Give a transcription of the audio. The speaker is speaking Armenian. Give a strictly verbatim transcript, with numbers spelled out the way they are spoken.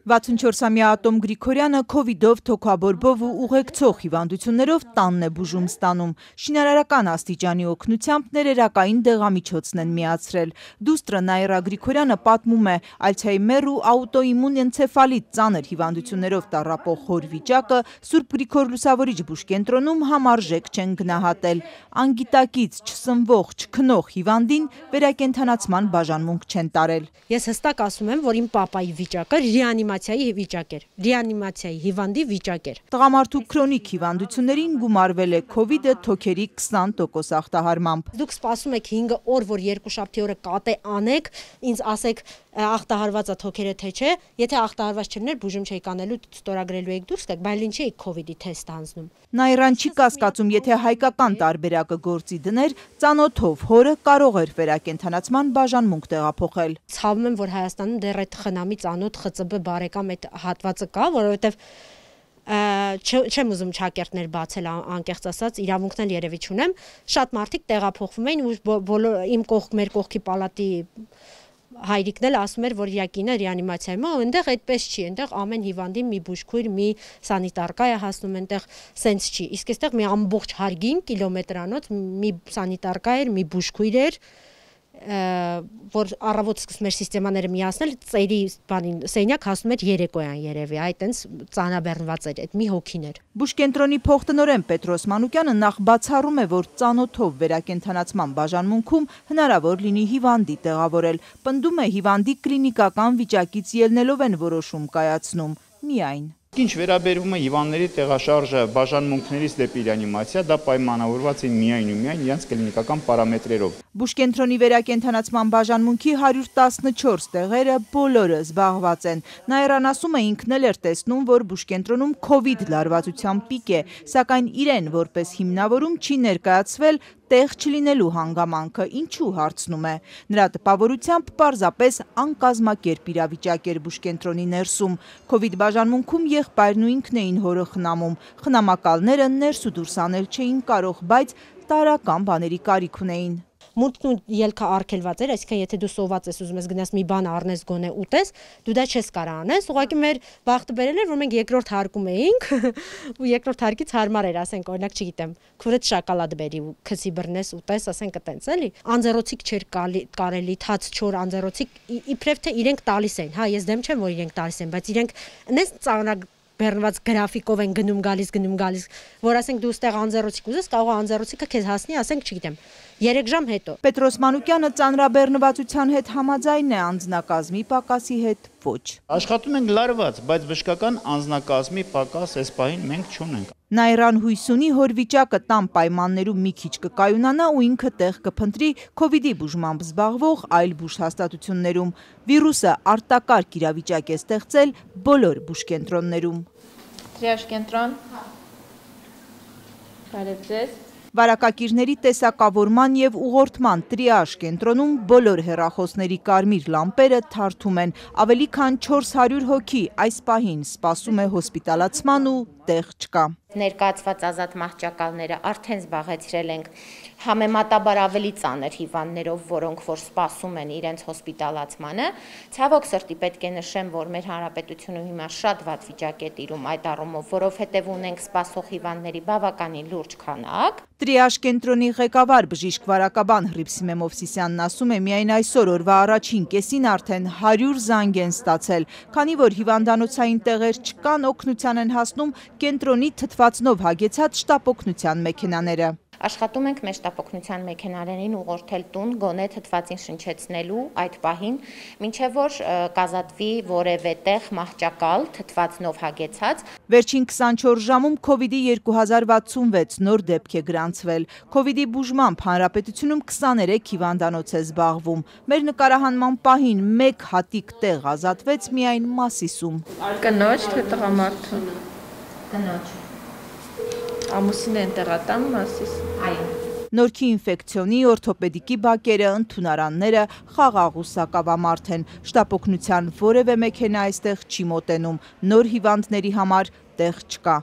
վաթսունչորսամյա Ատոմ Գրիգորյանը քովիդով, թոքաբորբով ու ուղեկցող հիվանդություններով տանն է բուժում ստանում։ Շինարարական աստիճանի օգնությամբ ներերակային դեղամիջոցն են միացրել։ Դուստրը Նաիրա Գրիգորյանը պատմում է, ալցհեյմեր ու աուտոիմուն էնցեֆալիտ ծանր հիվանդություններով տառապող հոր վիճակը Սուրբ Գրիգոր Լուսավորիչ բուժկենտրոնում համարժեք չեն գնահատել։ Անգիտակից չսնվող, չքնող հիվանդին վերակենդանացման բաժանմունք չեն տարել։ Ես հստակ ասում եմ, որ իմ պապայի վիճակը ռեանիմացիայի վիճակ էր, ռեանիմացիայի հիվանդի վիճակ էր։ Տղամարդու քրոնիկ հիվանդություններին գումարվել է քովիդը թոքերի քսան տոկոս ախտահարմամբ։ Դուք սպասում եք հինգ օր, որ երկուշաբթի օրը կատե անեք, ինձ ասեք ախտահարվածը թոքերը թե չէ, եթե ախտահարված չլիներ, բուժում չէի կանելու, ստորագրելու եք դուրս գաք, բայց ինչ էի քովիդի թեստ անցնում։ Նաիրան չի կասկածում, եթե հայկական տարբերակը գործի դներ, ծանոթով հորը կարող էր վերակենդանացման բաժանմունք տեղափոխել։ Ցավում եմ, որ Հայաստանում դեռ այդ խնամի ծանոթ ԽԾԲ բարեկամ այդ հատվածը կա, որովհետև չեմ ուզում ճակերտներ բացել, անկեղծ ասած, իրավունքն էլ երևի չունեմ, շատ մարդիկ տեղափոխվում էին ու բոլոր իմ կողք մեր կողքի պալատի հայրիկն էլ ասում էր, որ յակինը ռեանիմացիայում է, այնտեղ այդպես չի, այնտեղ ամեն հիվանդի մի բուժքույր, մի սանիտարկա է հասնում, այնտեղ սենց չի։ Իսկ այստեղ մի ամբողջ հարգին կիլոմետրանոց մի սանիտարկա էր, մի բուժքույր էր, որ առավոտ սկսում էր սիստեմաները միացնել, ծերի բանին սենյակ հասնում էր երեկոյան երևի, այդ այնց ծանրաբեռնված էր, այդ մի հոգին էր։ Բուժկենտրոնի փոխտնօրեն Պետրոս Մանուկյանը նախ բացառում է, որ ծանոթով վերակենդանացման բաժանմունքում հնարավոր լինի հիվանդի տեղավորել, պնդում է հիվանդի կլինիկական վիճակից ելնելով են որոշում կայացնում, միայն։ Ինչ վերաբերում է հիվանդների տեղաշարժը բաժանմունքներից դեպի ռեանիմացիա, դա պայմանավորված է միայն ու միայն իրենց կլինիկական պարամետրերով։ Բուժկենտրոնի վերակենդանացման բաժանմունքի հարյուր տասնչորս տեղերը բոլորը զբաղված են։ Նաիրան ասում է, ինքն էլ էր տեսնում, որ բուժկենտրոնում քովիդ լարվածության պիկ է, սակայն իրեն որպես հիմնավորում չի ներկայացվել տեղ չլինելու հանգամանքը, ինչու հարցնում է։ Նրա տպավորությամբ պարզապես անկազմակերպ իրավիճակ էր բուժկենտրոնի ներսում։ Քովիդ բաժանմունքում եղբայրն ու ինքն էին հորը խնամում։ Խնամակալները ներս ու դուրս անել չէին կարող, բայց տարրական բաների կարիք ունեին։ Մուտքն ու ելքը արգելված էր, այսինքն եթե դու սոված ես ուզում ես գնաս մի բան առնես գոնե ուտես, դու դա չես կարող անես, ուղղակի մեր բախտը բերել էր, որ մենք երկրորդ հարկում էինք ու երկրորդ հարկից հարմար էր, ասենք, օրինակ, չգիտեմ, քուրդ շոկոլադ բերի ու քսի բռնես ուտես, ասենք, այտենց էլի։ Անձեռոցիկ չէր կարելի, թաց չոր անձեռոցիկ, իբրև թե իրենք տալիս են, հա, ես դեմ չեմ, որ իրենք տալիս են, բայց իրենք նես ծանրակ բեռնված գրաֆիկով են գնում գալիս, գնում գալիս, որ ասենք դու ստեղ անձեռոցիկ ուզես, կարող է անձեռոցիկը քեզ հասնի, ասենք, չգիտեմ, երեք ժամ հետո։ Պետրոս Մանուկյանը ծանրաբեռնվածության հետ համաձայն է, անձնակազմի պակասի հետ ոչ։ Աշխատում ենք լարված, բայց բժշկական անձնակազմի պակաս այս պահին մենք չունենք։ Նաիրան հույս ունի, հոր վիճակը տան պայմաններում մի քիչ կկայունանա ու ինքը տեղ կփնտրի քովիդի բուժմամբ զբաղվող այլ բուժհաստատություններում։ Վիրուսը արտակարգ իրավիճակ է ստեղծել բոլոր բուժկենտրոններում։ Տրիաժ կենտրոն։ Բարև ձեզ։ Վարակակիրների տեսակավորման և ուղղորդման տրիաժ կենտրոնում բոլոր հեռախոսների կարմիր լամպերը թարթում են, ավելի քան չորս հարյուր հոգի այս պահին սպասում է հոսպիտալացման ու տեղ չկա։ Ներկայացված ազատ մահճակալները արդեն զբաղեցրել ենք համեմատաբար ավելի ծանր հիվանդներով, որոնք որ սպասում են իրենց հոսպիտալացմանը։ Ցավոք սրտի պետք է նշեմ, որ մեր հանրապետությունը հիմա շատ վատ վիճակ է տիրում այդ առումով, որովհետև ունենք սպասող հիվանդների բավականին լուրջ քանակ։ Տրիաժ կենտրոնի ղեկավար բժիշկ վարակաբան Հռիփսիմե Մովսիսյանն ասում է, միայն այսօր օրվա առաջին կեսին արդեն հարյուր զանգ են ստացել, քանի որ հիվանդանոցային տեղեր չկան, օգնության են հասնում կենտրոնի թթվածնով հագեցած շտապօգնության մեքենաները։ Աշխատում ենք մեր շտապօգնության մեքենաներին ուղղորդել տուն գոնե թթվածին շնչեցնելու այդ պահին, մինչև որ կազատվի որևէ տեղ մահճակալ թթվածնով հագեցած։ Վերջին քսանչորս ժամում քովիդի երկու հազար վաթսունվեց նոր դեպք է գրանցվել։ Քովիդի բուժմամբ հանրապետությունում քսաներեք հիվանդանոց է զբաղվում։ Մեր նկարահանման պահին մեկ հատիկ տեղ ազատվեց միայն Մասիսում։ Կնոջ թե տղամարդու։ Կնոջ։ Ամուսին են տեղատան Մասիս։ Այո։ Նորքի ինֆեկցիոնի, օրթոպեդիկի բակերը, ընդունարանները խաղաղ ու սակավամարդ են։ Շտապօգնության որևէ մեքենա այստեղ չի մոտենում։ Նոր հիվանդների համար տեղ չկա։